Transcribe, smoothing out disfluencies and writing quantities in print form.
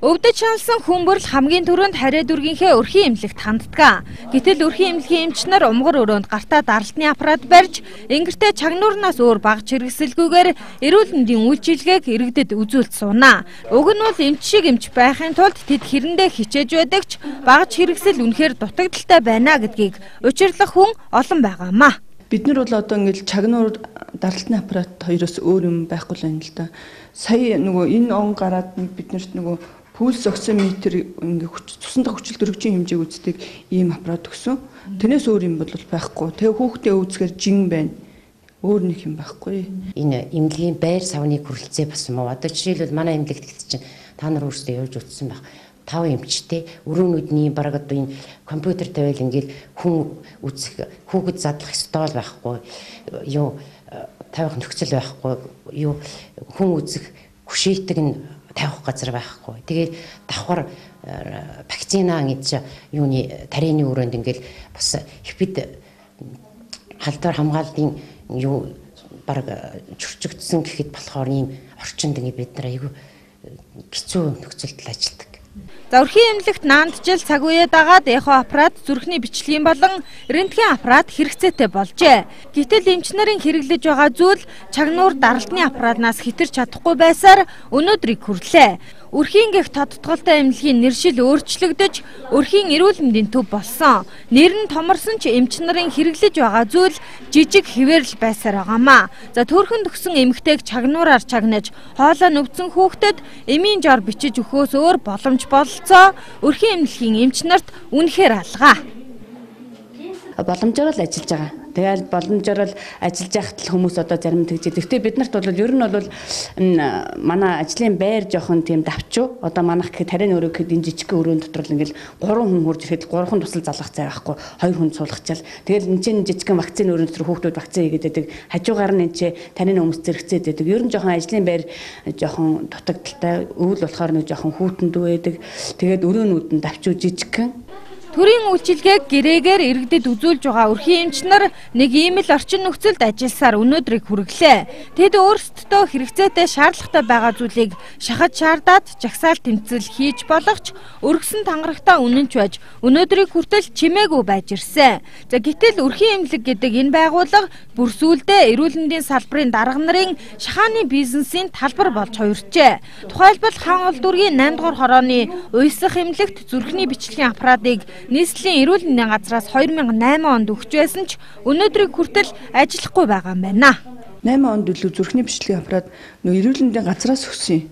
Өвдөж шаналсан хүмбэрл хамгийн түрүүнд хариа дүргийнхээ өрхийн эмнэлэгт ханддаг. Гэтэл өрхийн эмнэлгийн эмч нар умгар өрөөнд гартаа даралтны аппарат барьж, ингэртээ чагнуурнаас өөр багж хэрэгсэлгүйгээр эрүүл мэндийн үйлчилгээг иргэдэд үзүүлж сууна. Уг нь бол эмч шиг эмч байхын тулд тэд хэрэндээ хичээж байдаг ч багж хэрэгсэл үнэхээр дутагдaltaй байна гэдгийг учирлах хүн олон байгаамаа. Бид нар бол одоо ингээл чагнуур даралтны аппарат хоёроос өөр юм байхгүй л байна л да. Сая нөгөө энэ он гараад биднэрт нөгөө пульс оксиметр ингээ цусндах хүчил дөрвжин хэмжээг үздэг ийм аппарат өгсөн. Тэрнээс өөр юм бол байхгүй. Тэгээ хүүхдээ үзэхээр жин байна. Өөр нэг юм байхгүй. Энэ эмнэлгийн байр савны хүрэлцээ бас юм уу? Одоо жишээлбэл манай эмнэлэгт чинь та нар өөрсдөө явж үзсэн байх. 5 эмчтэй өрөөнүүдний бараг одоо энэ компьютер тавиал ингээл хүн үзэх хүүхэд задлах стол байхгүй. Юу тавих нөхцөл байхгүй. Юу хүн үзэх хүшээдэг нь тавих газар байхгүй. Тэгээд давхар вакцина гэж юуны тарины өрөөнд ингээл бас хэвд халдвар хамгааллын юу бараг чурчигдсан гэхэд болохоор ийм орчинд ингээ бид нар айгүй хэцүү нөхцөлд ажилладаг. За өрхийн эмнэлэгт наандчил цаг үеэ дагаад эхо аппарат, зүрхний бичлэгийн болон рентген аппарат хэрэгцээтэй болжээ. Гэтэл эмч нарын хэрэглэж байгаа зүйл чагнуур даралтны аппаратнаас хэтэрч чадахгүй байсаар өнөөдрийг хүрлээ. Өрхийн гэх тодтголтой эмнэлгийн нэршил өөрчлөгдөж, өрхийн эрүүл мэндийн төв болсон. Нэр нь томорсон ч эмч нарын хэрэглэж байгаа зүйл жижиг хэвээрл байсаар байгаамаа. За төрхөнд өгсөн эмэгтэйг чагнуураар чагнаж, хоолой нүвцэн хүүхдэд эмийн жор бичиж өгөхөөс өөр боломж бололцоо өрхийн эмнэлгийн эмч нарт үнэхээр алгаа. Боломжоор л ажиллаж байгаа. Тэгэл боломжоор л ажиллаж байхад л хүмүүс одоо зарим тэгж. Гэхдээ бид нарт бол ер нь бол манай ажлын байр жоохон тийм давчуу. Одоо манайх гэхэд тарийн өрөө гэхэд энэ жижиг өрөөнд дотор л ингээл 3 хүн хурж ирэхэд 3 хүн тусал залгах цай байхгүй. 2 хүн суулгачаал. Тэгэл энэ чинь жижигхэн вакцины өрөөнд дотор хүүхдүүд вакцин хийгээд байдаг. Хажуугаар нь энэ чинь тарийн хүмүүс зэрэгцээд байдаг. Ер нь жоохон ажлын байр жоохон дутагдaltaй. Өвөл болохоор нэг жоохон хүүтэндүү байдаг. Тэгээд өрөөнүүд нь давчуу жижигхэн. Төрийн үйлчилгээг гэрээгээр иргэдэд үзүүлж байгаа өрхийн эмч нар нэг ийм л орчин нөхцөлд ажилласаар өнөөдрийг хүргэлээ. Тэд өөрсдөө хэрэгцээтэй шаардлагатай байгаа зүйлийг шахаж шаардаад жагсаал тэмцэл хийж болох ч өргөсөн тангарагтаа үнэнч байж өнөөдрийг хүртэл чимээгүй байж ирсэн. За гэтэл өрхийн эмнэлэг гэдэг энэ байгууллага бүр сүүлдээ эрүүл мэндийн салбарын дарга нарын шахааны бизнесийн талбар болж хувирчээ. Тухайлбал хаан улс дүүргийн 8 дугаар хорооны уйсах эмнэлэгт зүрхний бичлэгийн аппаратыг нийслэлийн эрүүл мэндийн газраас 2008 онд өгч байсан ч өнөөдрийг хүртэл ажиллахгүй байгаа юм байна. 8 онд үлээ зүрхний бичлэгийн аппарат нөө эрүүл мэндийн газраас өгсөн юм.